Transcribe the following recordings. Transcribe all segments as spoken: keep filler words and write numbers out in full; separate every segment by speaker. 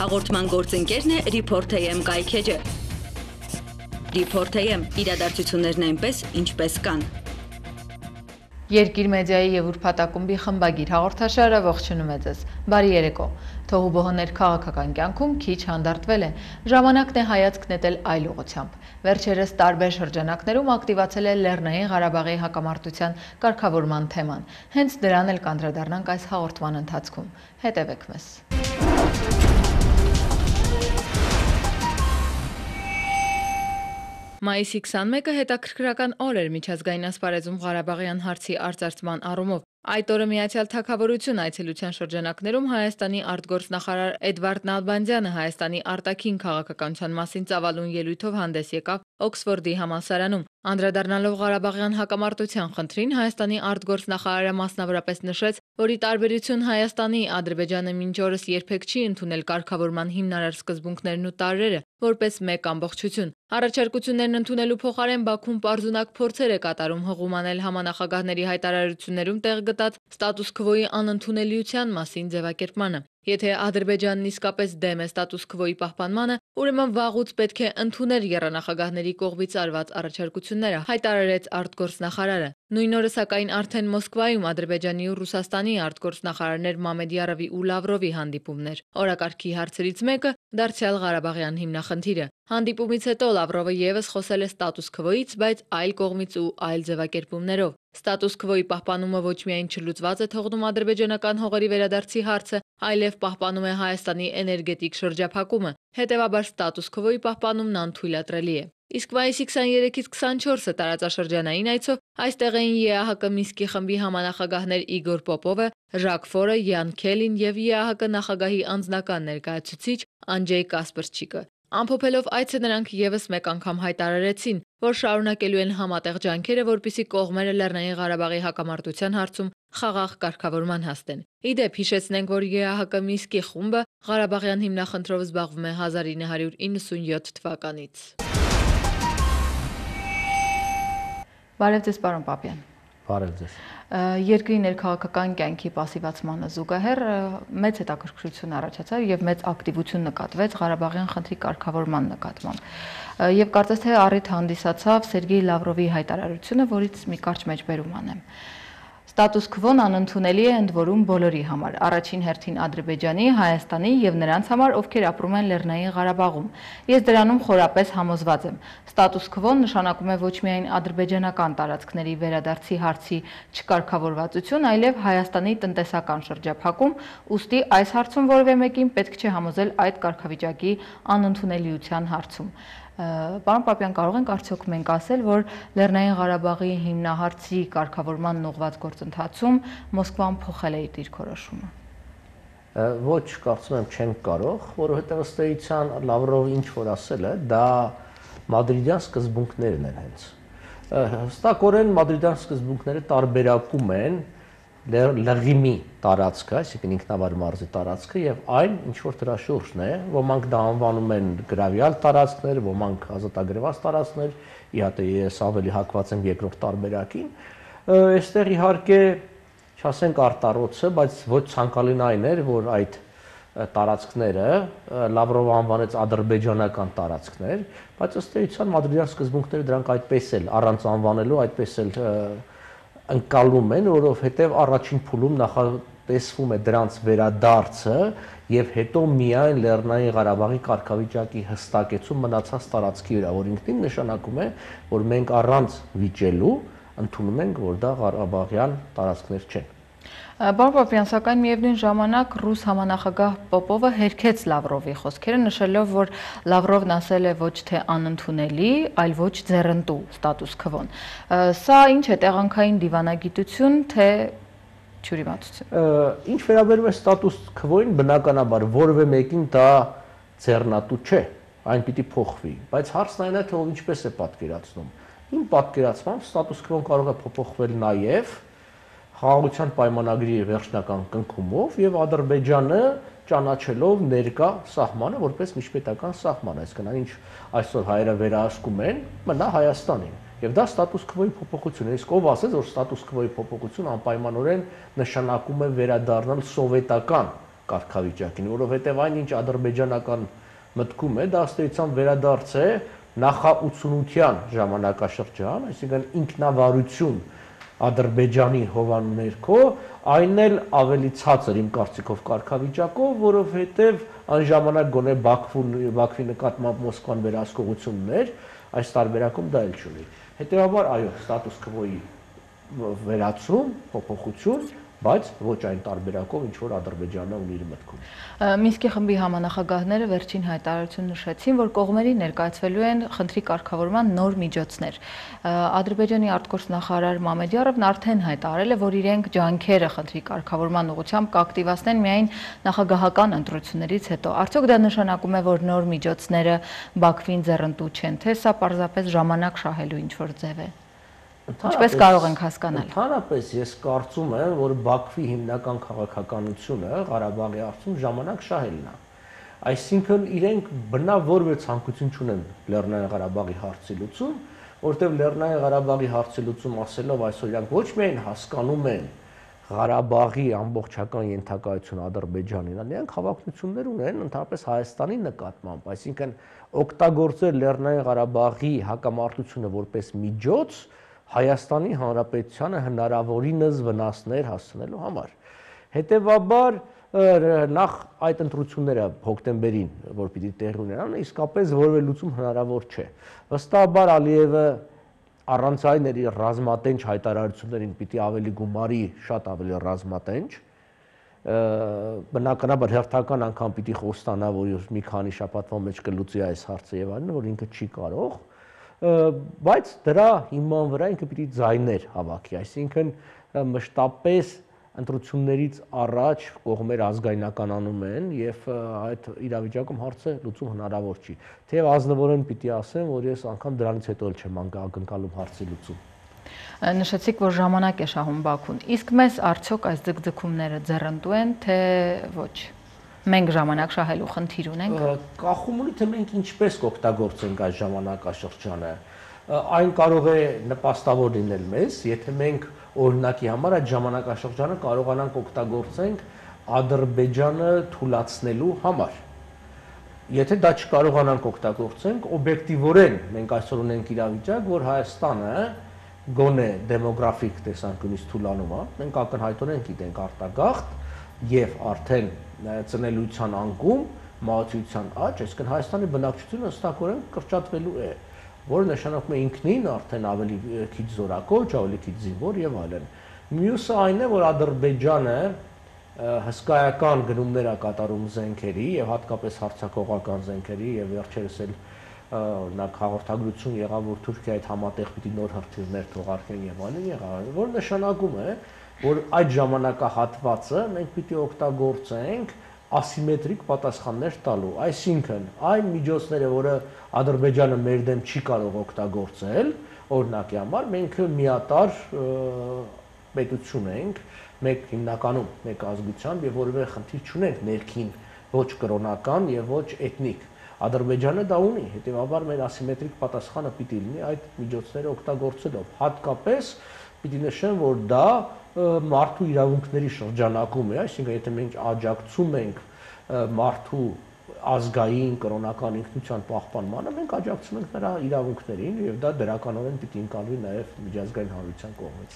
Speaker 1: Հաղորդման գործընկերն է Report A M կայքեջը։ Report A M իրադարձություններն այնպես, ինչպես կան։
Speaker 2: Երկիր մեդիայի եւ ուրբաթակումբի խմբագիր հաղորդաշարը ողջունում է ձեզ։ Բարի երեկո։ Թողուբոհներ քաղաքական կյանքում քիչ հանդարտվել է։ Ժամանակն է հայացք նետել այլ ուղղությամբ։ Վերջերս տարբեր շրջանակներում ակտիվացել է Լեռնային Ղարաբաղի հակամարտության կարգավորման թեման։ Հենց դրան էլ կանդրադառնանք այս հաղորդման ընթացքում։ Հետևեք մեզ։ Մայիսի քսանմեկը հետաքրքրական օր էր միջազգային ասպարեզում Ղարաբաղյան հարցի արծարծման առումով։ Այդ օրը Միացյալ Թագավորություն այցելության շրջանակներում Հայաստանի արտգործնախարար Էդվարդ Նալբանդյանը Հայաստանի արտաքին քաղաքականության մասին ծավալուն ելույթով հանդես եկավ Օքսֆորդի համալսարանում։ Անդրադառնալով Ղարաբաղյան հակամարտության խնդրին, Հայաստանի արտգործնախարարը մասնավորապես նշեց, որ ի տարբերություն Հայաստանի, Ադրբեջանը մինչ օրս երբեք չի ընդունել կարգավորման հիմնարար սկզբունքներն ու տարրերը որպես մեկ ամբողջություն։ Առաջարկություններն ընդունելու փոխարեն Բաքուն պարզունակ փորձեր է կատարում հղում անել համանախագահների հայտարարություններում տեղ գտած ստատուս քվոյի անընդունելիության մասին ձևակերպմանը։ Եթե Ադրբեջանն իսկապես դեմ է ստատուս քվոյի պահպանմանը, ուրեմն վաղուց պետք է ընդուներ եռանախագահների կողմից արված առաջարկությունները, հայտարարեց արտգործնախարարը։ Նույն օրը սակայն արդեն Մոսկվայում Ադրբեջանի ու Ռուսաստանի արտգործնախարարներ Մամեդյարովի ու Լավրովի հանդիպումներ։ Օրակարգի հարցերից մեկը դարձյալ Ղարաբաղյան հիմնախնդիրը։ Հանդիպումից հետո Լավրովը եւս խոսել է ստատուս քվոյից, բայց այլ կողմից ու այլ ձևակերպումներով։ Ստատուս քվոյի պահպանումը ոչ միայն չլուծված է թողնում ադրբեջանական հողերի վերադարձի հարցը, այլև պահպանում է Հայաստանի էներգետիկ շրջափակումը։ Հետևաբար ստատուս քվոյի պահպանումն անթույլատրելի է։ Իսկ մայիսի քսաներեքից քսանչորսը տարածաշրջանային այցով այստեղ էին Է Ա Հ Կ Մինսկի խմբի համանախագահներ Իգոր Պոպովը, Ժակ Ֆորը, Յան Քելին եւ Է Ա Հ Կ նախագահի անձնական ներկայացուցիչ Անջեյ Կասպրչիկը։ Ամփոփելով այցը նրանք եւս մեկ անգամ հայտարարեցին, որ շարունակելու են համատեղ ջանքերը, որպեսզի կողմերը Լեռնային Ղարաբաղի հակամարտության հարցում խաղաղ կարգավորման հասնեն։ Ի դեպ, հիշեցնենք, որ Է Ա Հ Կ Մինսկի խումբը Ղարաբաղյան հիմնախնդրով զբաղվում է հազար ինը հարյուր իննսունյոթ թվականից։ Բարև ձեզ, պարոն Պապյան։
Speaker 3: Բարև ձեզ։
Speaker 2: Երկրի ներքաղաքական կյանքի պասիվացմանը զուգահեռ մեծ հետաքրքրություն առաջացավ եւ մեծ ակտիվություն նկատվեց Ղարաբաղյան խնդրի կարգավորման նկատմամբ։ Եվ կարծես թե առիթ հանդիսացավ Սերգեյ Լավրովի հայտարարությունը, որից մի կարճ մեջբերում անեմ։ Ստատուս քվոն անընդունելի է ընդ որում բոլորի համար, առաջին հերթին Ադրբեջանի, Հայաստանի եւ նրանց համար, ովքեր ապրում են Լեռնային Ղարաբաղում։ Ես դրանում խորապես համոզված եմ։ Ստատուս քվոն նշանակում է ոչ միայն ադրբեջանական տարածքների վերադարձի հարցի չկարգավորվածություն, այլև Հայաստանի տնտեսական շրջափակում, ուստի այս հարցում որևէ մեկին պետք չէ համոզել այդ կարգավիճակի անընդունելիության հարցում։ Պարոն Պապյան, կարող ենք արդյոք մենք ասել, որ Լեռնային Ղարաբաղի հիմնահարցի կարգավորման ուղղված գործընթացում Մոսկվան փոխել է իր դիրքորոշումը։
Speaker 3: Ոչ, կարծում եմ չեն կարող, որովհետև ըստ էության Լավրովը ինչ որ ասել է, դա մադրիդյան սկզբունքներն են հենց։ Հստակորեն մադրիդյան սկզբունքները տարբերակում են լղիմի տարածքը, այսինքն ինքնավար մարզի տարածքը եւ այն ինչ որ դրա շուրջն է, ոմանք դա անվանում են գրավյալ տարածքներ, ոմանք ազատագրված տարածքներ, իհարկե ես ավելի հակված եմ երկրորդ տարբերակին։ Այստեղ իհարկե չասենք արտառոցը, բայց ոչ ցանկալին այն էր, որ այդ տարածքները Լավրովը անվանեց ադրբեջանական տարածքներ, բայց ըստ էության մադրիդյան սկզբունքները դրանք այդպես էլ առանց անվանելու այդպես էլ ընկալում են, որովհետև առաջին փուլում նախատեսվում է դրանց վերադարձը եւ հետո միայն Լեռնային Ղարաբաղի կարգավիճակի հստակեցում մնացած տարածքի վրա, որ ինքնին նշանակում է, որ մենք առանց վիճելու ընդունում ենք, որ դա Ղարաբաղյան տարածքներ չեն։
Speaker 2: Պարոն Պապյան, սակայն միևնույն ժամանակ ռուս համանախագահ Պոպովը հերքեց Լավրովի խոսքերը, նշելով, որ Լավրովն ասել է ոչ թե անընդունելի, այլ ոչ ձեռնտու ստատուս քվոն։ Սա ինչ է, տեղանքային դիվանագիտություն, թե չյուրիմացություն։
Speaker 3: Ինչ վերաբերում է ստատուս քվոին, բնականաբար որևէ մեկին դա ձեռնատու չէ, այն պիտի փոխվի, բայց հարցն այն է, թե ով ինչպես է պատկերացնում։ Իմ պատկերացմամբ ստատուս քվոն կարող է փոփոխվել նաև խաղաղության պայմանագրի վերջնական կնքումով եւ Ադրբեջանը ճանաչելով ներկա սահմանը որպես միջպետական սահման, այսինքն ինչ այսօր հայերը վերահսկում են, մնա Հայաստանին։ Եվ դա ստատուս քվոյի փոփոխություն է։ Իսկ ով ասեց, որ ստատուս քվոյի փոփոխություն անպայմանորեն նշանակում է վերադառնալ սովետական կարգավիճակին, որովհետև այն ինչ ադրբեջանական մտքում է, դա ըստ էության վերադարձ է նախաութսունության ժամանակաշրջան, այսինքն ինքնավարություն Ադրբեջանի հովանու ներքո, այն էլ ավելի ցածր իմ կարծիքով կարգավիճակով, որովհետև այն ժամանակ գոնե Բաքվի նկատմամբ Մոսկվան վերահսկողություն ուներ, այս տարբերակում դա էլ չունի։ Հետևաբար, այո, ստատուս քվոյի վերացում, փոփոխություն, բայց ոչ այն տարբերակով, ինչ որ Ադրբեջանը ունի իր մտքում։
Speaker 2: Մինսկի խմբի համանախագահները վերջին հայտարարություն նշեցին, որ կողմերի ներկայացվելու են խնդրի կարգավորման նոր միջոցներ։ Ադրբեջանի արտգործնախարար Մամեդյարովն արդեն հայտարարել է, որ իրենք ջանքերը խնդրի կարգավորման ուղղությամբ կակտիվացնեն միայն նախագահական ընտրություններից հետո։ Արդյոք դա նշանակում է, որ նոր միջոցները Բաքվին ձեռնտու չեն, թե սա պարզապես ժամանակ շահելու ինչ-որ ձև է։ Ինչպես կարող ենք հասկանալ։
Speaker 3: Ընդհանրապես ես կարծում եմ, որ Բաքվի հիմնական քաղաքականությունը Ղարաբաղի հարցում ժամանակ շահելն է։ Այսինքն իրենք բնավ որևէ ցանկություն չունեն Լեռնային Ղարաբաղի հարցի լուծում, որտեղ Լեռնային Ղարաբաղի հարցի լուծում ասելով այսօր իրանք ոչ միայն հասկանում են Ղարաբաղի ամբողջական ենթակայություն Ադրբեջանին, այլ նրանք հավակնություններ ունեն ընդհանրապես Հայաստանի նկատմամբ, այսինքն օգտագործել Լեռնային Ղարաբաղի հակամարտությունը որպես միջոց Հայաստանի Հանրապետությանը հնարավորինս վնասներ հասցնելու համար։ Հետևաբար նախ այդ ընտրությունները հոկտեմբերին, որ պիտի տեղի ունենան, իսկապես որևէ լուծում հնարավոր չէ։ Վստահաբար Ալիևը առանց այն իր ռազմատենչ հայտարարություններին պիտի ավելի գումարի, շատ ավելի ռազմատենչ, բնականաբար հերթական անգամ պիտի խոստանա, որ մի քանի շաբաթվա մեջ կլուծի այս հարցը եւ այլն, որ ինքը չի կարող, բայց դրա հիման վրա ինքը պիտի ձայներ հավաքի, այսինքն մշտապես ընտրություններից առաջ կողմեր ազգայնականանում են եւ այդ իրավիճակում հարցը լուծում հնարավոր չի։ Թեև ազնվորեն պիտի ասեմ, որ ես անգամ դրանից հետո էլ չեմ ակնկալում հարցի լուծում։
Speaker 2: Նշեցիք, որ ժամանակ է շահում Բաքուն, իսկ մեզ արդյոք այս ձգձգումները ձեռնտու են, թե ոչ։ Մենք ժամանակ շահելու խնդիր ունենք։
Speaker 3: Կախում ունի, թե մենք ինչպես կօգտագործենք այս ժամանակաշրջանը։ Այն կարող է նպաստավոր լինել մեզ, եթե մենք օրինակի համար այդ ժամանակաշրջանը կարողանանք օգտագործենք Ադրբեջանը թուլացնելու համար։ Եթե դա չկարողանանք օգտագործենք, օբյեկտիվորեն մենք այսօր ունենք իրավիճակ, որ Հայաստանը գոնե դեմոգրաֆիկ տեսանկյունից թուլանում է, մենք ակնհայտորեն գիտենք արտագաղթ եւ արդեն ծնելիության անկում, մահացության աճ, այսինքն Հայաստանի բնակչությունը հստակորեն կրճատվելու է, որը նշանակում է ինքնին արդեն ավելի քիչ զորակոչ, ավելի քիչ զինվոր եւ այլն։ Մյուսը այն է, որ Ադրբեջանը հսկայական գնումներ է կատարում զենքերի եւ հատկապես հարձակողական զենքերի եւ վերջերս էլ օրինակ հաղորդագրություն եղավ, որ Թուրքիայի հետ համատեղ պիտի նոր հրթիռներ թողարկեն եւ այլն եղավ, որ նշանակում է, որ այդ ժամանակահատվածը մենք պիտի օգտագործենք ասիմետրիկ պատասխաններ տալու, այսինքն այն միջոցները, որը Ադրբեջանը մեր դեմ չի կարող օգտագործել, օրինակի համար մենք միատար պետություն ենք, մեկ հիմնականում մեկ ազգությամբ եւ որևէ խնդիր չունենք ներքին ոչ կրոնական եւ ոչ էթնիկ։ Ադրբեջանը դա ունի, հետեւաբար մեր ասիմետրիկ պատասխանը պիտի լինի այդ միջոցները օգտագործելով։ Հատկապես պիտի նշեմ, որ դա մարդու իրավունքների շրջանակում է, այսինքն եթե մենք աջակցում ենք մարդու ազգային կրոնական ինքնության պահպանմանը, մենք աջակցում ենք նրա իրավունքներին եւ դա դրականորեն պիտի ընկալվի նաեւ միջազգային հանրության կողմից։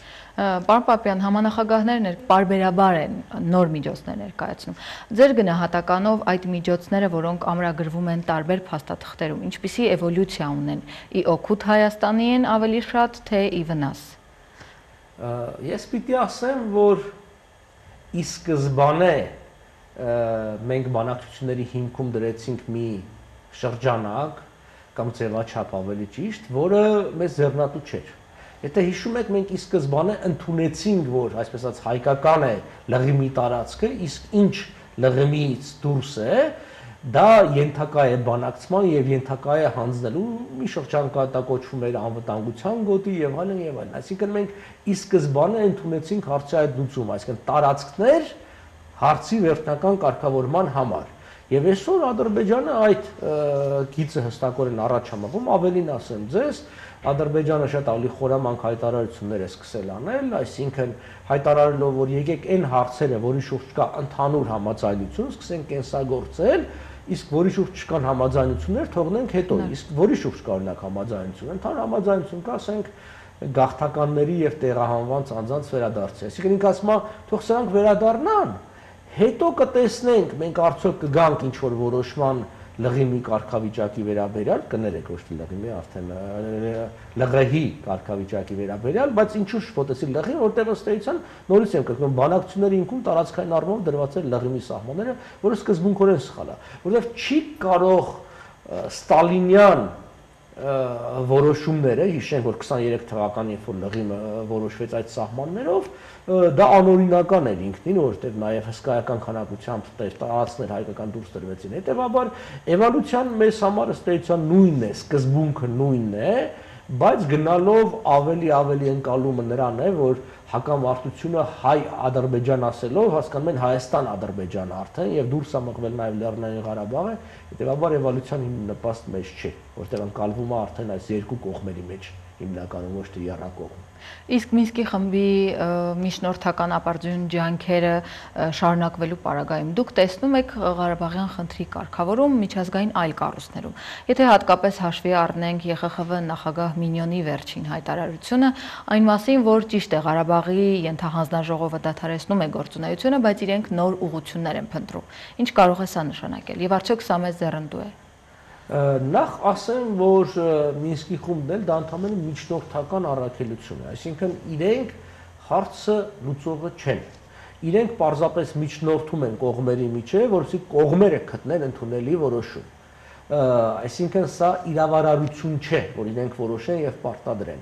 Speaker 2: Պարոն Պապյան, համանախագահներն պարբերաբար են նոր միջոցներ ներկայացնում։ Ձեր գնահատականով այդ միջոցները, որոնք ամրագրվում են տարբեր փաստաթղթերում, ինչպիսի էվոլյուցիա ունեն, ի օգուտ Հայաստանի են ավելի շատ, թե ի վնաս։
Speaker 3: Ես պիտի ասեմ, որ ի սկզբանե մենք բանակցությունների հիմքում դրեցինք մի շրջանակ կամ ձևաչափ ավելի ճիշտ, որը մեզ ձեռնատու չէր։ Եթե հիշում եք, մենք ի սկզբանե ընդունեցինք, որ այսպես ասած հայկական է լղիմի տարածքը, իսկ ինչ լղիմից դուրս է, դա ենթակա է բանակցման եւ ենթակա է հանձնելու մի շրջան կա դա կոչվում էր անվտանգության գոտի եւ այլն եւ այլն։ Այսինքն մենք ի սկզբանե ընդունեցինք հարցի այդ լուծումը, այսինքն տարածքներ հարցի վերջնական կարգավորման համար։ Եվ այսօր Ադրբեջանը այդ գիծը հստակորեն առաջ համավում, ավելին ասեմ ձեզ, Ադրբեջանը շատ ավելի խորամանկ հայտարարություններ է սկսել անել, այսինքն հայտարարելով, որ եկեք այն հարցերը, որի շուրջ կա ընդհանուր համաձայնություն, սկսենք կենսագործել, իսկ որի շուրջ չկան համաձայնություններ, թողնենք հետո, իսկ որի շուրջ կա օրինակ համաձայնություն, ընդհանուր համաձայնություն կա, ասենք գաղթականների եւ տեղահանված անձանց վերադարձի։ Այսինքն ինքը ասում է, թող սրանք վերադառնան, հետո կտեսնենք, մենք արդյոք կգանք ինչ որ որոշման լղիմի կարգավիճակի վերաբերյալ, կներեք ոչ թե լղիմի, արդեն լղեհի կարգավիճակի վերաբերյալ, բայց ինչու շփոթեցի լղին, որտեղ ըստ էության նորից եմ կրկնում, բանակցությունների ինքում տարածքային առումով դրված էր լղիմի սահմանները, որը սկզբունքորեն սխալ է, որովհետև չի կարող ստալինյան որոշումները, հիշենք, որ քսաներեք թվականին, երբ որ լղիմը որոշվեց այդ սահմաններով, դա անօրինական էր ինքնին, որովհետև նաև հսկայական քանակությամբ տարածքներ հայկական դուրս տրվեցին։ Հետևաբար էվոլյուցիան մեզ համար ըստ էության նույնն է, սկզբունքը նույնն է, բայց գնալով ավելի ավելի ընկալումը նրան է, որ հակամարտությունը հայ-ադրբեջան ասելով հասկանում են Հայաստան-Ադրբեջան արդեն եւ դուրս է մղվել նաեւ Լեռնային Ղարաբաղը, հետեւաբար էվոլյուցիան նպաստ մեծ չէ, որտեղ ընկալվում է արդեն այս երկու կողմերի մեջ հիմնականում ոչ թե եռակողմ։
Speaker 2: Իսկ Մինսկի խմբի միջնորդական ապարդյուն ջանքերը շարունակվելու պարագայում դուք տեսնում եք Ղարաբաղյան խնդրի կարգավորում միջազգային այլ կառույցներում։ Եթե հատկապես հաշվի առնենք Ե Խ Խ Վ նախագահ Մինյոնի վերջին հայտարարությունը, այն մասին, որ ճիշտ է Ղարաբաղի ենթահանձնաժողովը դադարեցնում է գործունեությունը, բայց իրենք նոր ուղղություններ են փնտրում։ Ինչ կարող է սա նշանակել եւ արդյոք սա մեծ ձեռնտու է։
Speaker 3: Նախ ասեմ, որ Մինսկի խումբն էլ դա ընդհանրապես միջնորդական առաքելություն է, այսինքն իրենք հարցը լուծողը չեն։ Իրենք պարզապես միջնորդում են կողմերի միջև, որովհետեւ կողմերը գտնեն ընդունելի որոշում։ Այսինքն սա իրավարարություն չէ, որ իրենք որոշեն եւ պարտադրեն։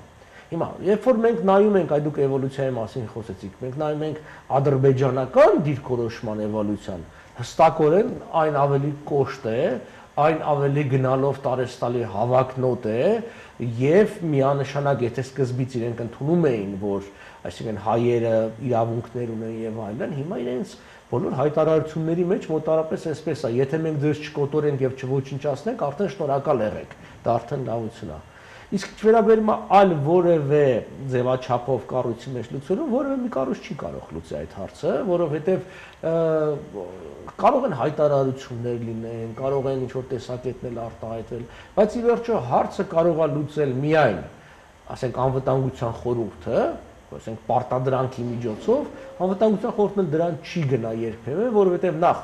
Speaker 3: Հիմա, երբ որ մենք նայում ենք, այ դուք էվոլյուցիայի մասին խոսեցիք, մենք նայում ենք ադրբեջանական դիրքորոշման էվոլյուցիան, հստակորեն այն ավելի կոշտ է, այն ավելի գնալով տարեստալի հավակնոտ է եւ միանշանակ եթե սկզբից իրենք ընդունում էին, որ այսինքն հայերը իրավունքներ ունեն եւ այլն, հիմա իրենց բոլոր հայտարարությունների մեջ մոտարապես այսպես է, եթե մենք ձեզ չկոտորենք եւ չոչնչացնենք, արդեն շնորհակալ եղեք, դա արդեն լավություն է։ Իսկ չվերաբերում է այլ որևէ ձևաչափով կառույցի մեջ լուծելու, որևէ մի կառույց չի կարող լուծել այդ հարցը, որովհետև կարող են հայտարարություններ լինեն, կարող են ինչ-որ տեսակետներ արտահայտվել, բայց ի վերջո հարցը կարող է լուծել միայն, ասենք, անվտանգության խորհուրդը, ասենք, պարտադրանքի միջոցով, անվտանգության խորհուրդն դրան չի գնա երբևէ, որովհետև նախ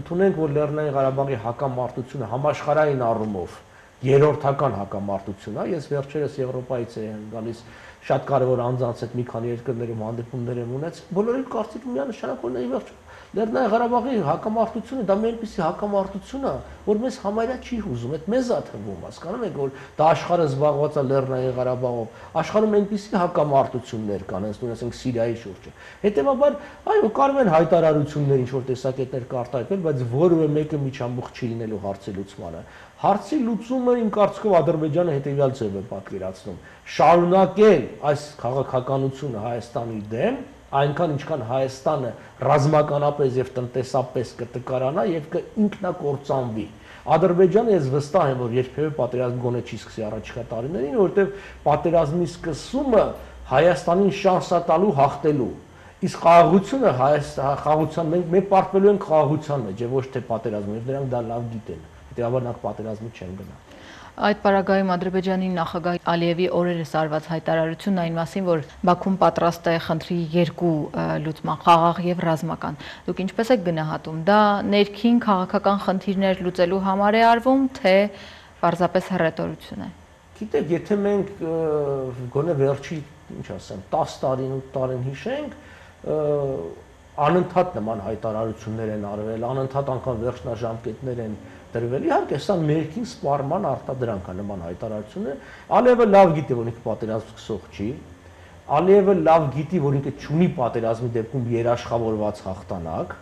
Speaker 3: ընդունենք, որ Լեռնային Ղարաբաղի հակամարտությունը համաշխարհային առումով երրորդական հակամարտություն է, ես վերջերս Եվրոպայից եմ գալիս շատ կարևոր անձանց հետ մի քանի երկրներում հանդիպումներ եմ ունեցել, բոլորի կարծիքը միանշանակ որ ի վերջո Լեռնային Ղարաբաղի հակամարտությունը դա մի այնպիսի հակամարտություն է, որ մեզ համարյա չի հուզում, այդ մեզ է թվում, հասկանում եք, որ դա աշխարհը զբաղված է Լեռնային Ղարաբաղով, աշխարհում այնպիսի հակամարտություններ կան, ասենք ասենք Սիրիայի շուրջը։ Հետևաբար, այո, կարող են հայտարարություններ ինչ-որ տեսակետներ կարտահայտվել, բայց որևէ մեկը միջամուխ չի լինելու հարցի լուծմանը։ Հարցի լուծումը իմ կարծիքով Ադրբեջանը հետևյալ ձև է պատկերացնում. շարունակել այս քաղաքականությունը Հայաստանի դեմ, այնքան ինչքան Հայաստանը ռազմականապես եւ տնտեսապես կտկարանա եւ կինքնակործանվի։ Ադրբեջանը ես վստահ եմ, որ երբևէ պատերազմ գոնե չի սկսի առաջիկա տարիներին, որովհետեւ պատերազմի սկսումը Հայաստանին շանս է տալու հաղթելու։ Իսկ խաղաղությունը խաղաղության մենք մենք պարտվելու ենք խաղաղության մեջ, ոչ թե պատերազմի, եւ նրանք դա լավ գիտեն։ Հետեւաբար նախ պատերազմի չեն գնա։
Speaker 2: Այդ պարագայում Ադրբեջանի նախագահ Ալիևի օրերս արված հայտարարությունն այն մասին, որ Բաքուն պատրաստ է խնդրի երկու լուծման, խաղաղ եւ ռազմական։ Դուք ինչպես եք գնահատում, դա ներքին քաղաքական խնդիրներ լուծելու համար է արվում, թե պարզապես հռետորություն է։
Speaker 3: Գիտեք, եթե մենք գոնե վերջի, ինչ ասեմ, տասը տարին, ութ տարին հիշենք, անընդհատ նման հայտարարություններ են արվել, անընդհատ անգամ վերջնաժամկետներ են դրվել։ Իհարկե, սա ներքին սպառման արտադրանք է նման հայտարարությունը։ Ալիևը լավ գիտի, որ ինքը պատերազմ սկսող չի։ Ալիևը լավ գիտի, որ ինքը չունի պատերազմի դեպքում երաշխավորված հաղթանակ։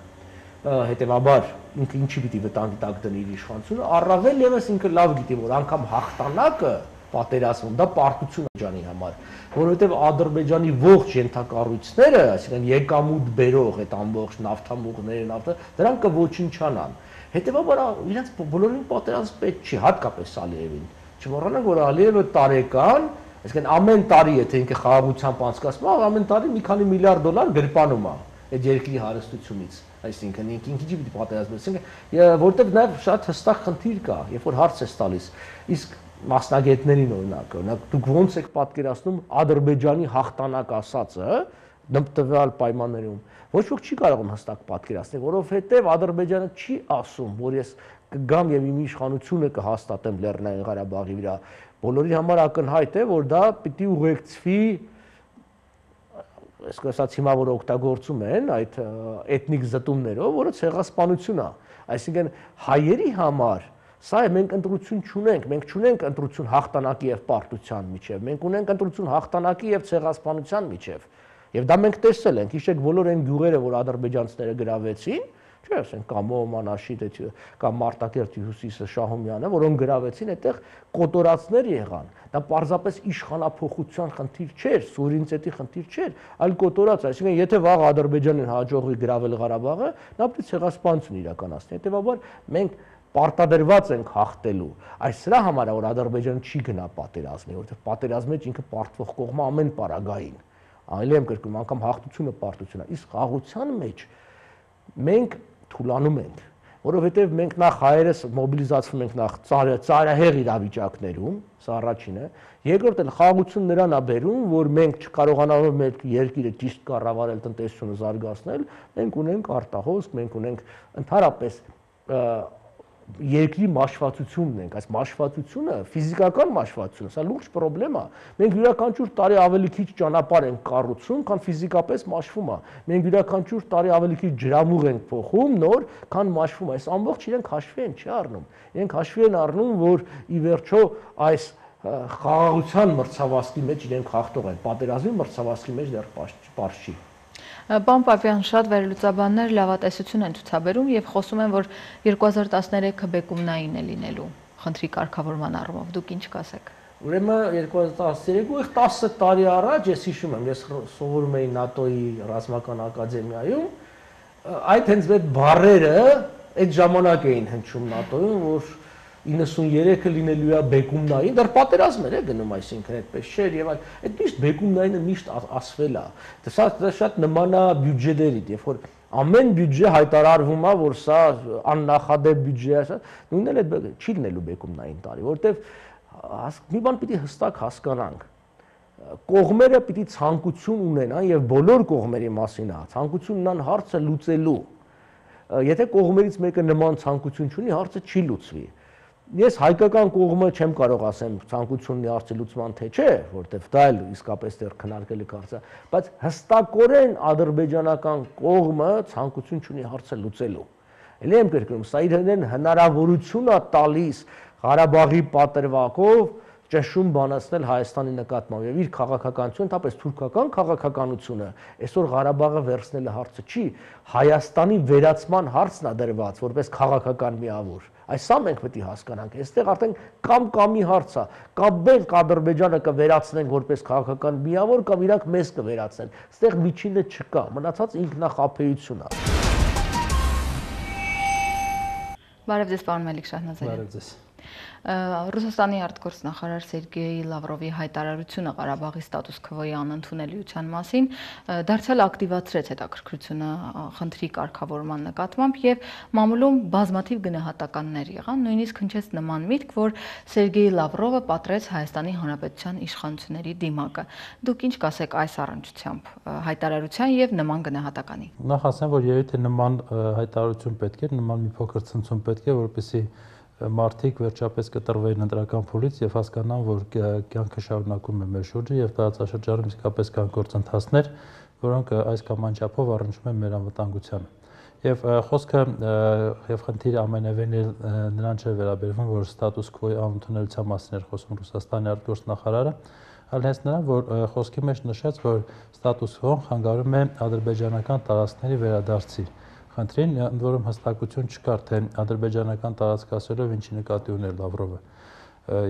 Speaker 3: Հետևաբար ինքը ինչի պիտի վտանգի տակ դնի իր իշխանությունը, առավել եւս ինքը լավ գիտի, որ անգամ հաղթանակը պատերազմում դա պարտություն է ջանի համար, որովհետև Ադրբեջանի ողջ ենթակառույցները, այսինքն եկամուտ բերող այդ ամբողջ նավթամուղները, նավթը, դրանք կոչնչանան։ Հետևաբար իրենց բոլորին պատերազմ պետք չի, հատկապես Ալիևին։ Չմոռանանք, որ Ալիևը տարեկան Այսինքն ամեն տարի եթե ինքը խաղաղությամբ անցկացնում է, ամեն տարի մի քանի միլիարդ դոլար գրպանում է այդ երկրի հարստությունից, այսինքն ինքը ինչի պիտի պատերազմի, այսինքն որտեղ նաև շատ հստակ խնդիր կա, երբ որ հարց է տալիս, իսկ մասնագետներին օրինակ, օրինակ դուք ո՞նց եք պատկերացնում Ադրբեջանի հաղթանակ ասածը տվյալ պայմաններում, ոչ ոք չի կարող հստակ պատկերացնել, որովհետև Ադրբեջանը չի ասում, որ ես կգամ եւ իմ իշխանությունը կհաստատեմ Լեռնային Ղարաբաղի վրա, բոլորի համար ակնհայտ է, որ դա պիտի ուղեկցվի, այսպես ասած հիմա որ օգտագործում են այդ էթնիկ զտումներով, որը ցեղասպանություն է, այսինքն հայերի համար սա է մենք ընտրություն չունենք, մենք չունենք ընտրություն հաղթանակի եւ պարտության միջեւ, մենք ունենք ընտրություն հաղթանակի եւ ցեղասպանության միջեւ, եւ դա մենք տեսել ենք, հիշեք բոլոր այն գյուղերը, որ ադրբեջանցիները գրավեցին, չէ՞, ասենք Կամո, Մանաշիտ, կամ Մարտակերտի հյուսիսը Շահումյանը, որոնք գրավեցին, այդտեղ կոտորածներ եղան։ Դա պարզապես իշխանափոխության խնդիր չէր, սուվերենիտետի խնդիր չէր, այլ կոտորած, այսինքն եթե վաղ Ադրբեջանին հաջողվի գրավել Ղարաբաղը, նա պետք է ցեղասպանություն իրականացնի։ Հետևաբար մենք պարտադրված ենք հաղթելու։ Այս սրա համար է որ Ադրբեջանը չի գնա պատերազմի, որովհետև պատերազմի մեջ ինքը պարտվող կողմը ամեն պարագային։ Այլ եմ կրկնում, անգամ հաղթությունը պարտություն է, իսկ խաղաղության մեջ մենք թուլանում ենք, որովհետև մենք նախ հայերս մոբիլիզացվում ենք նախ ծայրահեղ իրավիճակներում, սա առաջինը, երկրորդ էլ խաղաղություն նրան է բերում, որ մենք չկարողանալով մեր երկիրը ճիշտ կառավարել, տնտեսությունը զարգացնել, մենք ունենք արտահոսք, մենք ունենք ընդհանրապես երկրի մաշվածությունն ենք, այս մաշվածությունը, ֆիզիկական մաշվածությունը, սա լուրջ խնդրեմ է։ Մենք յուրաքանչյուր տարի ավելի քիչ ճանապարհ ենք կառուցում, քան ֆիզիկապես մաշվում է։ Մենք յուրաքանչյուր տարի ավելի քիչ ջրամուղ ենք փոխում, նոր, քան մաշվում է։ Այս ամբողջ իրենք հաշվի են չի առնում։ Իրենք հաշվի են առնում, որ ի վերջո այս խաղաղության մրցավազքի մեջ իրենք հաղթող են, պատերազմի մրցավազքի մեջ դեռ պարզ չի։
Speaker 2: Պարոն Պապյան, շատ վերլուծաբաններ լավատեսություն են ցուցաբերում եւ խոսում են, որ երկու հազար տասներեքը բեկումնային է լինելու խնդրի կարգավորման առումով։ Դուք ինչ կասեք։
Speaker 3: Ուրեմն երկու հազար տասներեքը տասը տարի առաջ ես հիշում եմ, ես սովորում էի ՆԱՏՕ-ի ռազմական ակադեմիայում, այդ հենց այդ բառերը այդ ժամանակ էին հնչում ՆԱՏՕ-ում, որ իննսուններեքը լինելու է բեկումնային, դեռ պատերազմ էր գնում, այսինքն այդպես չէր եւ այլ, այդ միշտ բեկումնայինը միշտ ասվել է։ Դա շատ նման է բյուջեներին, երբ որ ամեն բյուջե հայտարարվում է, որ սա աննախադեպ բյուջե է, նույնն էլ այդ չի լինելու բեկումնային տարի, որովհետեւ մի բան պիտի հստակ հասկանանք։ Կողմերը պիտի ցանկություն ունենան եւ բոլոր կողմերի մասին է, ցանկություն ունեն հարցը լուծելու։ Եթե կողմերից մեկը նման ցանկություն չունի, հարցը չի լուծվի։ Ես հայկական կողմը չեմ կարող ասեմ ցանկությունն է հարցի լուծման թե չէ, որտեվ դա էլ իսկապես դեռ քննարկելի հարց է, բայց հստակորեն ադրբեջանական կողմը ցանկություն չունի հարցը լուծելու։ Էլի եմ կրկնում, սա իրեն հնարավորություն է տալիս Ղարաբաղի պատրվակով ճշում բանացնել Հայաստանի նկատմամբ եւ իր քաղաքականությունը, ընդհանրապես թուրքական քաղաքականությունը այսօր Ղարաբաղը վերցնելը հարցը չի, Հայաստանի վերացման հարցն է դրված որպես քաղաքական միավոր։ Այս սա մենք պետք է հասկանանք, այստեղ արդեն կամ կամի հարց է, կամ մենք Ադրբեջանը կվերացնենք որպես քաղաքական միավոր, կամ իրանք մեզ կվերացնեն։ Այստեղ միջինը չկա, մնացած ինքնախաբեություն է։
Speaker 2: Բարև ձեզ, պարոն Մելիք Շահնազարյան։
Speaker 3: Բարև ձեզ։
Speaker 2: Ռուսաստանի արտգործնախարար Սերգեյ Լավրովի հայտարարությունը Ղարաբաղի ստատուս քվոյի անընդունելիության մասին դարձյալ ակտիվացրեց հետաքրքրությունը խնդրի կարգավորման նկատմամբ եւ մամուլում բազմաթիվ գնահատականներ եղան, նույնիսկ հնչեց նման միտք, որ Սերգեյ Լավրովը պատրեց Հայաստանի Հանրապետության իշխանությունների դիմակը։ Դուք ինչ կասեք այս առնչությամբ հայտարարության եւ նման գնահատականի։
Speaker 4: Նախ ասեմ, որ երևի թե նման հայտարարություն պետք է, նման մի փոքր ցնցում պետք է, որպեսզի մարդիկ վերջապես կտրվեին ընտրական փուլից եւ հասկանան, որ կյանքը շարունակում է մեր շուրջը եւ տարածաշրջանում իսկապես կան գործընթացներ, որոնք այս կամ այն չափով առնչվում են մեր անվտանգությանը։ Եվ խոսքը եւ խնդիրը ամենևին նրան չէ վերաբերվում, որ ստատուս քվոյի անընդունելության մասին էր խոսում Ռուսաստանի արտգործնախարարը, այլ հենց նրան, որ խոսքի մեջ նշեց, որ ստատուս քվոն խանգարում է ադրբեջանական տարածքների վերադարձի խնդրին, ընդ որում հստակություն չկար, թե ադրբեջանական տարածք ասելով ինչի նկատի ուներ Լավրովը։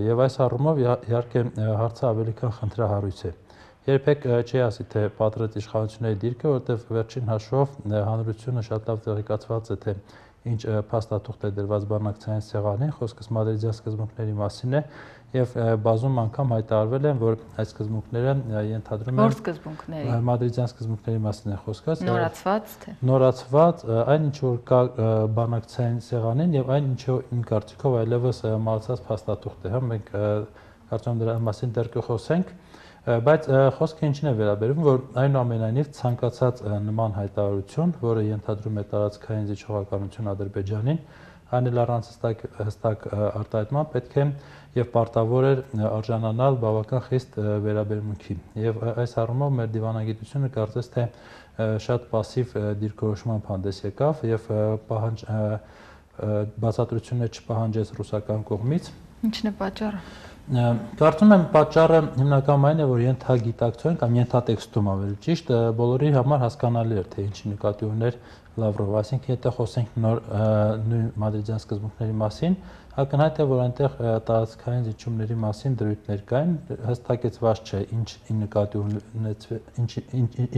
Speaker 4: Եվ այս առումով իհարկե հարցը ավելի քան խնդրահարույց է։ Երբեք չի ասի, թե պատրեց իշխանությունների դիրքը, որտեղ վերջին հաշվով հանրությունը շատ լավ տեղեկացված է, թե ինչ փաստաթուղթ է դրված բանակցային սեղանին, խոսքս մադրիդյան սկզբունքների մասին է, եւ բազում անգամ հայտարարվել են, որ այս սկզբունքները ենթադրում են
Speaker 2: Որ սկզբունքների
Speaker 4: մադրիդյան սկզբունքների մասին է խոսքը,
Speaker 2: նորացված թե
Speaker 4: նորացված, այն ինչ որ կա բանակցային սեղանին եւ այն ինչ իմ կարծիքով այլևս մահացած փաստաթուղթ է, հա մենք կարծում եմ դրա մասին դեռ կխոսենք, բայց խոսքը ինչին է վերաբերում, որ այնուամենայնիվ ցանկացած նման հայտարարություն, որը ենթադրում է տարածքային զիջողականություն Ադրբեջանին, այն էլ առանց հստակ հստակ արտահայտման պետք է եւ պարտավոր էր արժանանալ բավական խիստ վերաբերմունքի։ Եվ այս առումով մեր դիվանագիտությունը կարծես թե շատ пассив դիրքորոշման հանդես եկավ եւ պահանջ բացատրություններ չպահանջեց ռուսական կողմից։
Speaker 2: Ինչն է պատճառը։
Speaker 4: Կարծում եմ պատճառը հիմնական այն է, որ ենթագիտակցություն կամ ենթատեքստում ավելի ճիշտ բոլորի համար հասկանալի էր, թե ինչի նկատի ուներ Լավրովը, այսինքն եթե խոսենք նոր նույն մադրիդյան սկզբունքների մասին, ակնհայտ է, որ այնտեղ տարածքային զիջումների մասին դրույթներ կային, հստակեցված չէ ինչ նկատի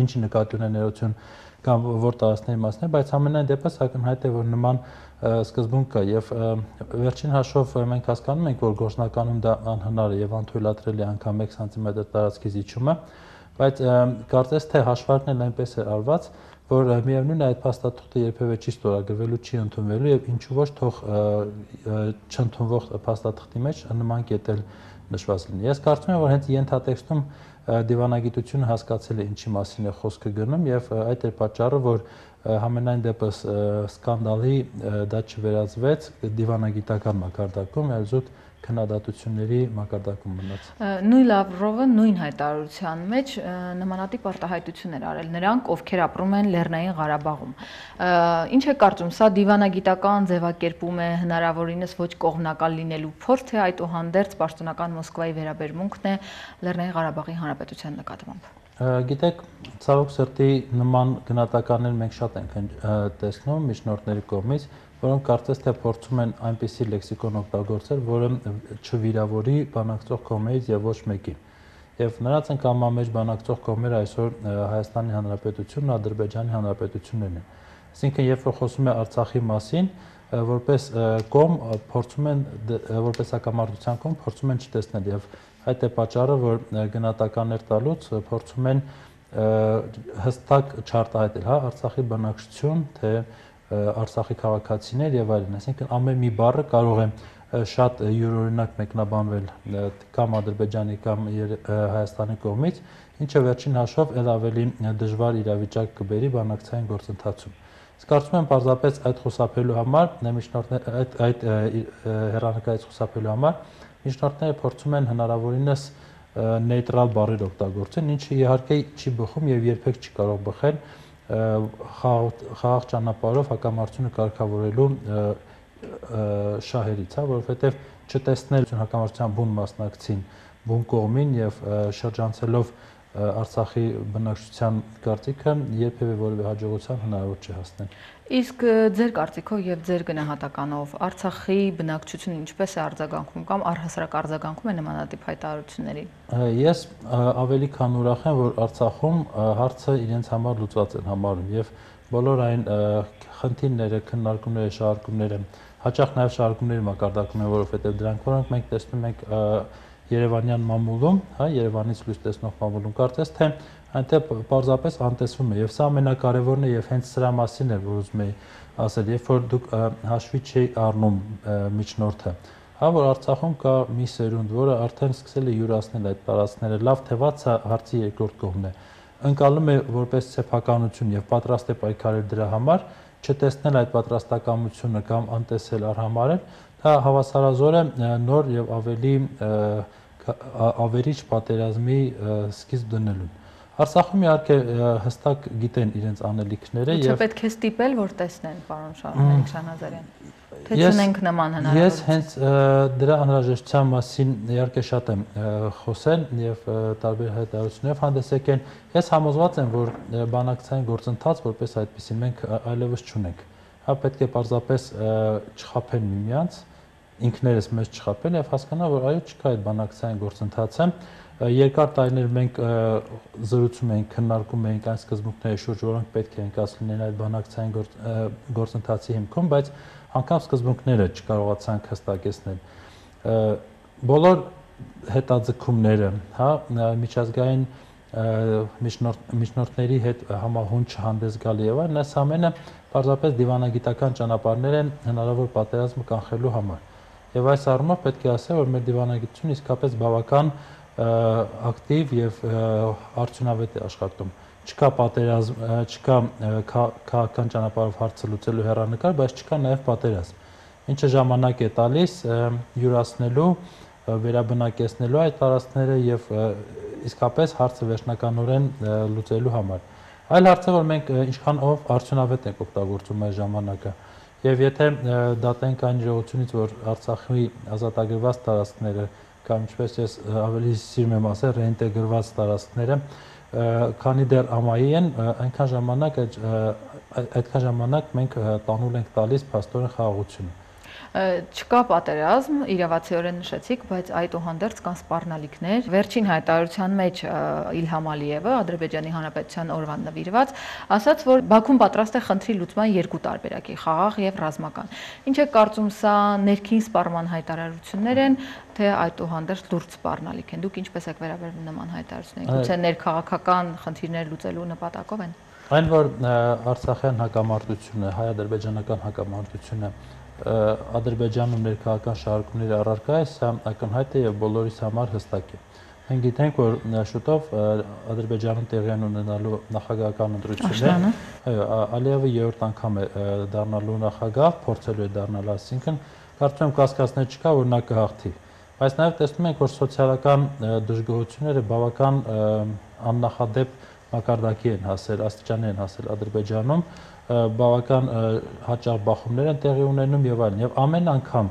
Speaker 4: ինչի նկատի ունենալություն կամ որ տարածքների մասն է, բայց ամենայն դեպս ակնհայտ է, որ նման սկզբունք կա եւ վերջին հաշվով մենք հասկանում ենք, որ գործնականում դա անհնար է եւ անթույլատրելի անգամ մեկ սանտիմետր տարածքի զիջումը, բայց կարծես թե հաշվարկն էլ այնպես է արված, որ միևնույն է այդ փաստաթուղթը երբևէ չի ստորագրվելու, չի ընդունվելու եւ ինչու ոչ թող չընդունվող փաստաթղթի մեջ նման կետել նշված լինի։ Ես կարծում եմ, որ հենց ենթատեքստում դիվանագիտությունը հասկացել է ինչի մասին է խոսքը գնում եւ այդ էր պատճառը, որ համենայն դեպս սկանդալի դա չվերածվեց դիվանագիտական մակարդակում, այլ զուտ քննադատությունների մակարդակում մնաց։
Speaker 2: Նույն Լավրովը նույն հայտարարության մեջ նմանատիպ արտահայտություններ արել նրանք, ովքեր ապրում են Լեռնային Ղարաբաղում։ Ինչ է կարծում, սա դիվանագիտական ձևակերպում է հնարավորինս ոչ կողմնակալ լինելու փորձ, թե այդուհանդերձ պաշտոնական Մոսկվայի վերաբերմունքն է Լեռնային Ղարաբաղի Հանրապետության նկատմամբ։
Speaker 4: Գիտեք, ցավոք սրտի նման գնահատականներ մենք շատ ենք տեսնում միջնորդների կողմից, որոնք կարծես թե փորձում են այնպիսի լեքսիկոն օգտագործել, որը չվիրավորի բանակցող կողմերից եւ ոչ մեկին։ Եվ նրանց են կամամեջ բանակցող կողմերը այսօր Հայաստանի Հանրապետությունն ու Ադրբեջանի Հանրապետություններն են։ Այսինքն, երբ որ խոսում է Արցախի մասին, որպես կողմ փորձում են որպես հակամարտության կողմ փորձում են չտեսնել եւ այդ է պատճառը, որ գնահատականներ տալուց փորձում են հստակ չարտահայտել, հա, Արցախի բնակչություն, թե Արցախի քաղաքացիներ եւ այլն, այսինքն ամեն մի բառը կարող է շատ յուրօրինակ մեկնաբանվել կամ Ադրբեջանի կամ Հայաստանի կողմից, ինչը վերջին հաշվով ել ավելի դժվար իրավիճակ կբերի բանակցային գործընթացում։ Ես կարծում եմ պարզապես այդ խուսափելու համար, այդ այդ հեռանկարից խուսափելու համար միջնորդները փորձում են հնարավորինս նեյտրալ բառեր օգտագործեն, ինչը իհարկե չի բխում եւ երբեք չի կարող բխել խաղաղ ճանապարհով հակամարտությունը կարգավորելու շահերից, հա, որովհետեւ չտեսնել հակամարտության բուն մասնակցին, բուն կողմին եւ շրջանցելով Արցախի բնակչության կարծիքը երբևէ որևէ հաջողության հնարավոր չի հասնել։
Speaker 2: Իսկ ձեր կարծիքով եւ ձեր գնահատականով Արցախի բնակչությունը ինչպես է արձագանքում կամ առհասարակ արձագանքում է նմանատիպ հայտարարությունների։
Speaker 4: Ես ավելի քան ուրախ եմ, որ Արցախում հարցը իրենց համար լուծված են համարում եւ բոլոր այն խնդիրները, քննարկումները, շարժումները, հաճախ նաեւ շարժումների մակարդակում են, որովհետեւ դրանք որոնք մենք տեսնում ենք Երևանյան մամուլում, հա, Երևանից լույս տեսնող մամուլում, կարծես թե այնտեղ պարզապես անտեսվում է եւ սա ամենակարևորն է եւ հենց սրա մասին է, որ ուզում եի ասել, երբ որ դուք հաշվի չեք առնում միջնորդը, հա, որ Արցախում կա մի սերունդ, որը արդեն սկսել է յուրացնել այդ տարածքները, լավ թե վատ սա հարցի երկրորդ կողմն է, ընկալում է որպես սեփականություն եւ պատրաստ է պայքարել դրա համար, չտեսնել այդ պատրաստակամությունը կամ անտեսել արհամարել, դա հավասարազոր է նոր եւ ավելի ավերիչ պատերազմի սկիզբ դնելուն։ Արցախում իհարկե հստակ գիտեն իրենց անելիքները
Speaker 2: եւ պետք է ստիպել, որ տեսնեն, պարոն Շահնիկ Շահնազարյան։ Թե չունենք նման հնարավորություն։
Speaker 4: Ես հենց դրա անհրաժեշտության մասին իհարկե շատ եմ խոսել եւ տարբեր հայտարարություններ հանդես եկել։ Ես համոզված եմ, որ բանակցային գործընթաց որպես այդպեսին մենք այլևս չունենք։ Հա պետք է պարզապես չխաբեն միմյանց, ինքներս մեզ չխաբեն եւ հասկանալ, որ այո չկա այդ բանակցային գործընթացը։ Երկար տարիներ մենք զրուցում էինք, քննարկում էինք այն սկզբունքների շուրջ, որոնք պետք է ընկած լինեն այդ բանակցային գործընթացի հիմքում, բայց անգամ սկզբունքները չկարողացանք հստակեցնել։ Բոլոր հետաձգումները, հա, միջազգային միջնորդների հետ համահունչ հանդես գալի եւ այլն, այս ամենը պարզապես դիվանագիտական ճանապարհներ են հնարավոր պատերազմը կանխելու համար։ Եվ այս առումով պետք է ասել, որ մեր դիվանագիտությունը իսկապես բավական ակտիվ եւ արդյունավետ է աշխատում։ Չկա պատերազմ, չկա քաղաքական ճանապարհով հարցը լուծելու հեռանկար, բայց չկա նաեւ պատերազմ, ինչը ժամանակ է տալիս յուրացնելու, վերաբնակեցնելու այդ տարածքները եւ իսկապես հարցը վերջնականորեն լուծելու համար։ Այլ հարց է, որ մենք ինչքան ով արդյունավետ ենք օգտագործում այս ժամանակը։ Եվ եթե դատենք այն իրողությունից, որ Արցախի ազատագրված տարածքները կամ ինչպես ես ավելի սիրում եմ ասել, ռեինտեգրված տարածքները, քանի դեռ ամայի են, այնքան ժամանակ այդքան ժամանակ մենք տանուլ ենք տալիս փաստորեն խաղաղությունը։
Speaker 2: Չկա պատերազմ, իրավացիորեն նշեցիք, բայց այդուհանդերձ կան սպառնալիքներ։ Վերջին հայտարարության մեջ Իլհամ Ալիևը, Ադրբեջանի Հանրապետության օրվան նվիրված, ասաց, որ Բաքուն պատրաստ է խնդրի լուծման երկու տարբերակի՝ խաղաղ եւ ռազմական։ Ինչ է կարծում, սա ներքին սպառման հայտարարություններ են, թե այդուհանդերձ լուրջ սպառնալիք են։ Դուք ինչպես եք վերաբերվում նման հայտարարություններին։ Գուցե ներքաղաքական խնդիրներ լուծելու նպատակով են։
Speaker 4: Այն, որ Արցախյան հակամարտությունը, հայ-ադրբեջանական հակամարտությունը Ադրբեջանում ներքաղաքական շարժումների առարկա է, սա ակնհայտ է եւ բոլորիս համար հստակ է։ Մենք գիտենք, որ շուտով Ադրբեջանում տեղի են ունենալու նախագահական ընտրություններ։ Այո, Ալիևը երրորդ անգամ է դառնալու նախագահ, փորձելու է դառնալ, այսինքն կարծում եմ կասկածներ չկա, որ նա կհաղթի։ Բայց նաեւ տեսնում ենք, որ սոցիալական դժգոհությունները բավական աննախադեպ մակարդակի են հասել, աստիճանի են հասել Ադրբեջանում, բավական հաճախ բախումներ են տեղի ունենում եւ այլն, եւ ամեն անգամ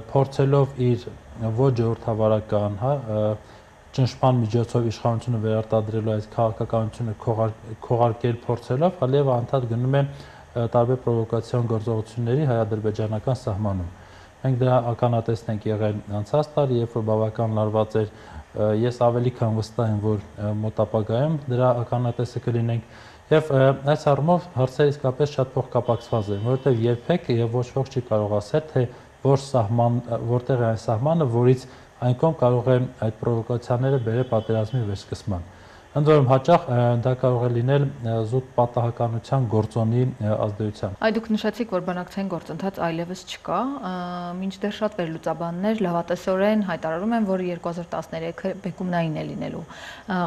Speaker 4: փորձելով իր ոչ ժողովրդավարական, հա, ճնշման միջոցով իշխանությունը վերարտադրելու այս քաղաքականությունը քողարկել փորձելով, Ալիևը անդադ գնում է տարբեր պրովոկացիոն գործողությունների հայ-ադրբեջանական սահմանում։ Մենք դրա ականատեսն ենք եղել անցած տարի, երբ որ բավական լարված էր, ես ավելի քան վստահ եմ, որ մոտ ապագայում դրա ականատեսը կլինենք։ Եվ այս առումով հարցերը իսկապես շատ փոխկապակցված են, որովհետև երբեք եւ ոչ ոք չի կարող ասել, թե որ սահման, որտեղ է այն սահմանը, որից այն կողմ կարող է այդ պրովոկացիաները բերել պատերազմի վերսկսման։ Ընդ որում հաճախ դա կարող է լինել զուտ պատահականության գործոնի ազդեցությամբ։
Speaker 2: Այ դուք նշեցիք, որ բանակցային գործընթաց այլևս չկա, մինչդեռ շատ վերլուծաբաններ լավատեսորեն հայտարարում են, որ երկու հազար տասներեքը բեկումնային է լինելու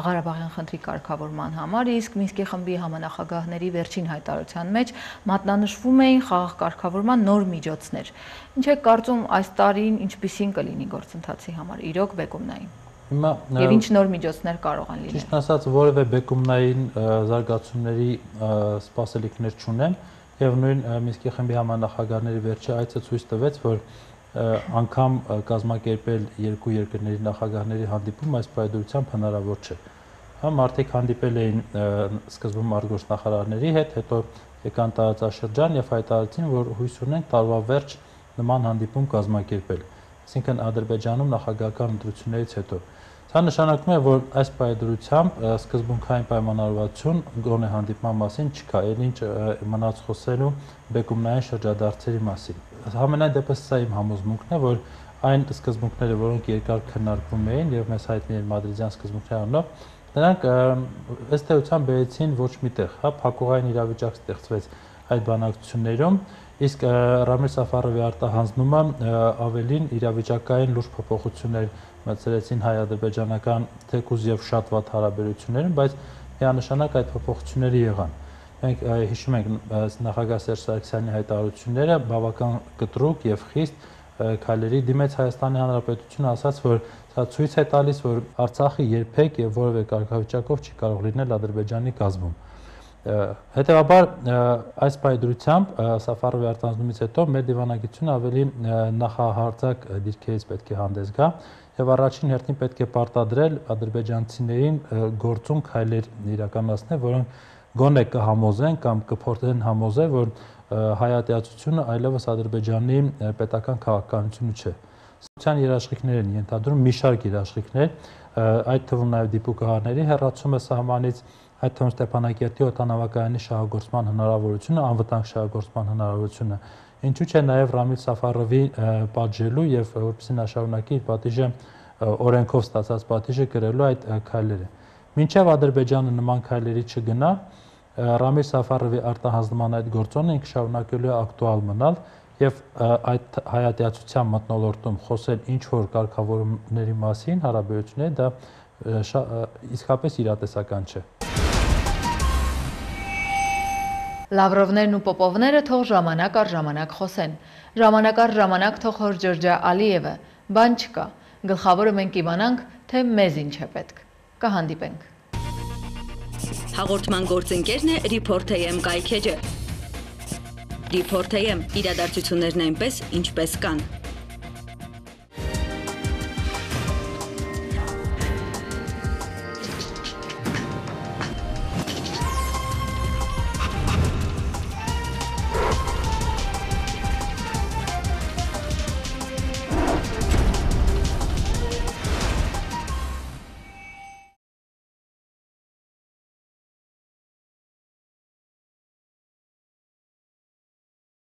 Speaker 2: Ղարաբաղյան խնդրի կարգավորման համար, իսկ Մինսկի խմբի համանախագահների վերջին հայտարարության մեջ մատնանշվում էին խաղաղ կարգավորման նոր միջոցներ։ Ինչ եք կարծում, այս տարին ինչպիսին կլինի գործընթացի համար, իրոք բեկումնային։ Եվ ինչ նոր միջոցներ կարող են լինել։
Speaker 4: Ճիշտ ասած, որևէ բեկումնային զարգացումների սպասելիքներ չունեմ, եւ նույն Մինսկի խմբի համանախագահների վերջի այցը ցույց տվեց, որ անգամ կազմակերպել երկու երկրների նախագահների հանդիպում այս պայմանությամբ հնարավոր չէ։ Հա մարդիկ հանդիպել էին սկզբում արտգործնախարարների հետ, հետո եկան տարածաշրջան եւ հայտարարեցին, որ հույս ունեն տարվա վերջ նման հանդիպում կազմակերպել։ Այսինքն Ադրբեջանում նախագահական ընտրություններից հետո։ Սա նշանակում է, որ այս պայմանությամբ սկզբունքային պայմանավորվածություն գոնե հանդիպման մասին չկա, այլ ինչ մնաց խոսելու բեկումնային շրջադարձերի մասին։ Համենայն դեպս սա իմ համոզմունքն է, որ այն սկզբունքները, որոնք երկար քննարկվում էին եւ մեզ հայտնի են մադրիդյան սկզբունքների առումով, նրանք ըստ էության բերեցին ոչ միտեղ, հա, փակուղային իրավիճակ ստեղծվեց այդ բանակցություններում, իսկ Ռամիլ Սաֆարովի արտահանձնումը ավելին իրավիճակային լուրջ փոփոխություններ մտցրեցին հայ-ադրբեջանական թեկուզ եւ շատ վատ հարաբերություններում, բայց միանշանակ այդ փոփոխությունները եղան։ Մենք հիշում ենք նախագահ Սերժ Սարգսյանի հայտարարությունները բավական կտրուկ եւ խիստ քայլերի դիմեց Հայաստանի Հանրապետությունը, ասաց, որ սա ցույց է տալիս, որ Արցախը երբեք եւ որևէ կարգավիճակով չի կարող լինել Ադրբեջանի կազմում։ Հետևաբար այս պայմանությամբ Սաֆարովի արտահանձնումից հետո մեր դիվանագիտությունը ավելի նախահարձակ դիրքերից պետք է հանդես գա եւ առաջին հերթին պետք է պարտադրել ադրբեջանցիներին գործուն քայլեր իրականացնել, որոնք գոնե կհամոզեն կամ կփորձեն համոզել, որ հայատյացությունը այլևս Ադրբեջանի պետական քաղաքականությունը չէ։ Սոցիալ երաշխիքներ են ենթադրում մի շարք երաշխիքներ, այդ թվում նաեւ դիպուկահարների հեռացումը սահմանից, այդ թվում Ստեփանակերտի օդանավակայանի շահագործման հնարավորությունը, անվտանգ շահագործման հնարավորությունը, ինչու՞ չէ նաև Ռամիլ Սաֆարովի պատժելու եւ որպեսզի նա շարունակի իր պատիժը օրենքով ստացած պատիժը կրելու այդ քայլերը։ Մինչև Ադրբեջանը նման քայլերի չգնա, Ռամիլ Սաֆարովի արտահանձնման այդ գործոնը ինքը շարունակելու է ակտուալ մնալ եւ այդ հայատյացության մթնոլորտում խոսել ինչ որ կարգավորումների մասին հարաբերությունների դա իսկապես իրատեսական չէ։
Speaker 2: Լավրովներն ու Պոպովները թող ժամանակ առ ժամանակ խոսեն։ Ժամանակ առ ժամանակ թող հոր Ջորջա Ալիևը, բան չկա։ Գլխավորը մենք իմանանք, թե մեզ ինչ է պետք։ Կհանդիպենք։
Speaker 1: Հաղորդման գործընկերն է Report.am կայքեջը։ Report.am իրադարձություններն այնպես, ինչպես կան։